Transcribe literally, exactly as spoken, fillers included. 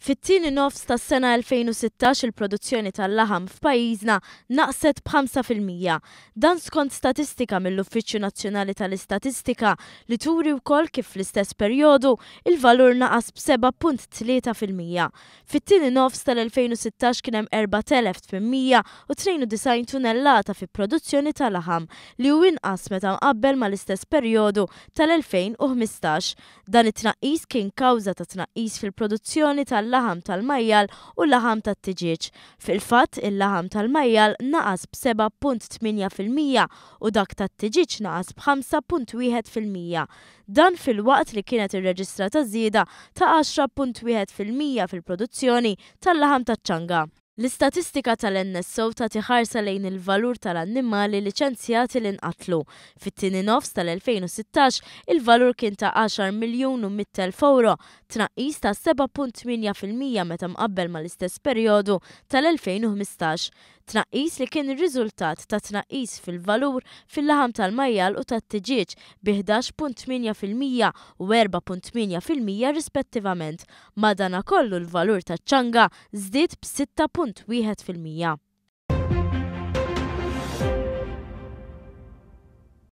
Fit-tieni nofs tas-sena elfejn u sittax il-produzzjoni tal-laħam f'pajjiżna naqset b'ħamsa fil-mija. Dan skont statistika mill-Uffiċċju Nazzjonali tal-Istatistika li turi wkoll kif fl-istess perjodu il-valur naqas b'seba' punt tlieta fil-mija. Fit-tieni nofs tal-elfejn u sittax kien hemm erbat elef tmien mija u tnejn u disgħin tunnellata fi produzzjoni ta' laħam li hu inqas meta mqabbel mal-istess perjodu tal-elfejn u ħmistax. Dan it-tnaqqis kien kawża ta' tnaqqis fil-produzzjoni tal-laħam tal-majjal u laħam tat-tiġieġ. Fil-fatt, il-laħam tal-majjal naqas b'seba' punt tmienja fil-mija u dak tat-tiġieġ naqas b'ħamsa punt wieħed fil-mija. Dan filwaqt li kienet irreġistrata żieda ta' għaxra punt wieħed fil-mija fil-produzzjoni tal-laħam taċ-ċanga. L-istatistika tal-N S O tagħti ħarsa lejn il-valur tal-annimali liċenzjati li nqatlu. Fit-tieni nofs tal-elfejn u sittax il-valur kien ta' għaxar miljun u mitt elf euro, tnaqqis ta' seba' punt tmienja fil-mija meta mqabbel mal-istess perjodu tal-elfejn u ħmistax. Tnaqqis li kien ir-riżultat ta' tnaqqis fil-valur fil-laħam tal-majjal u tat-tiġieġ bi ħdax punt tmienja fil-mija u erba' punt tmienja fil-mija rispettivament. Madanakollu l-valur taċ-ċanga żdied b'sitta punt wieħed fil-mija.